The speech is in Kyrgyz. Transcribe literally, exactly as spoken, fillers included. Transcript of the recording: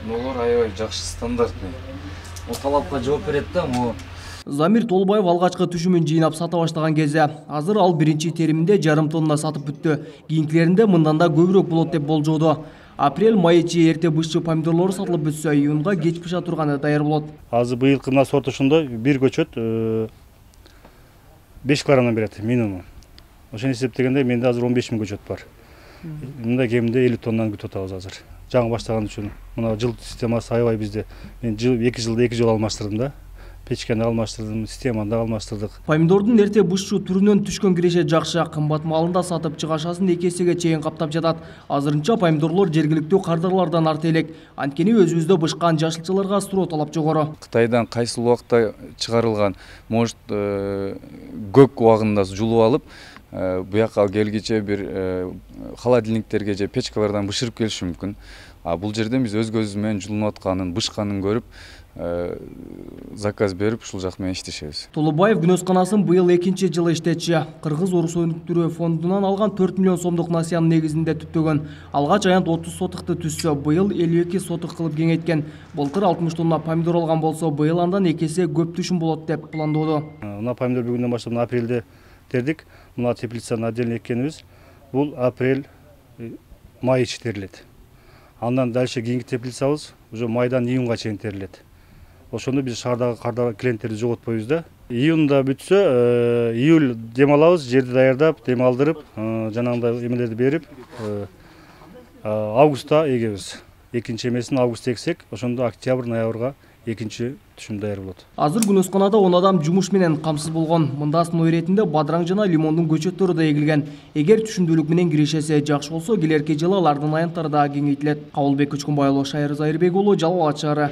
Нолор аябай жакшы стандартный. О талапка жооп берет да, могу. Замир Толубаев алгачкы түшүмүн жыйнап сата баштаган кезде азыр ал биринчи териминде жарым тонна сатып бүттү. Кийинкилеринде мындан да көбүрөөк болот деп болжоодо. Апрель-май ичи эрте бышчы помидорлору сатылып бүтсө, июнга кеч пыша турганы даяр болот. Азыр быйылкы мына сорт ошондой бир көчөт беш килограммдан берет минимум. Ошону эсептегенде менде азыр он беш миң көчөт бар. Мында кеминде элүү тоннаны күтүп атабыз азыр. Жаңы баштаган үчүн. Мына жыл системасы аябай бизде. Мен эки жылда эки жолу алмаштырдым да. Печкени алмаштырдым, системаны да алмаштырдык. Помидордун эрте бышчу түрүнөн түшкөн киреше жакшы, кымбат малында сатып чыгашасын эки эсеге чейин каптап жатат. Азырынча помидорлор жергиликтүү кардарлардан арта элек. Анткени өзүбүздө бышкан жашылчаларга суроо талап жогору. Кытайдан кайсыл убакта чыгарылган, может көк убагында жулуп алып, буяка келгиче бир холодильниктерге же печкалардан бышырып келиши мүмкүн. А бул жерден биз өз көзүбүз менен жулунуп атканын, бышканын көрүп, заказ берип ушул жак менен иштешебиз. Толубаев күнөсканасын быйыл экинчи жылы иштетчи. Кыргыз Орус өнүктүрүү фондунан алган төрт миллион сомдук насыянын негизинде түптөгөн. Алгач аянт отуз сотыкты түзсө, быйыл элүү эки сотык кылып кеңейткен. Былтыр алтымыш тонна помидор алган болсо, быйыл андан эки эсе көп түшүм болот деп пландоодо. Мына помидор бүгүндөн баштап апрелде тердик. Мына теплицаны отдельно эккенибиз. Бул апрель, май ичи терилет. Андан дальше кийинки теплицабыз уже майдан июнга чейин терилет. Ошондо биз шаардагы кардагы клиенттерди жоготпойбуз да. Июнда бүтсө, июль дем алабыз, жерди даярдап, дем алдырып, жанагындай эмелерди берип, августта эгебиз. Экинчи эмесин августта эксек, ошондо октябрь, ноябрга экинчи түшүм даяр болот. Азыр күнөсканада он адам жумуш менен камсыз болгон. Мында сыноо иретинде бадыраң жана лимондун көчөттөрү да эгилген. Эгер түшүмдүүлүк менен киришесе жакшы болсо, келерки жылы алардын аянттары да кеңейтилет. Кабылбек Көчкөнбай уулу, Шайыр Зайырбек уулу, Жалал абад шаары.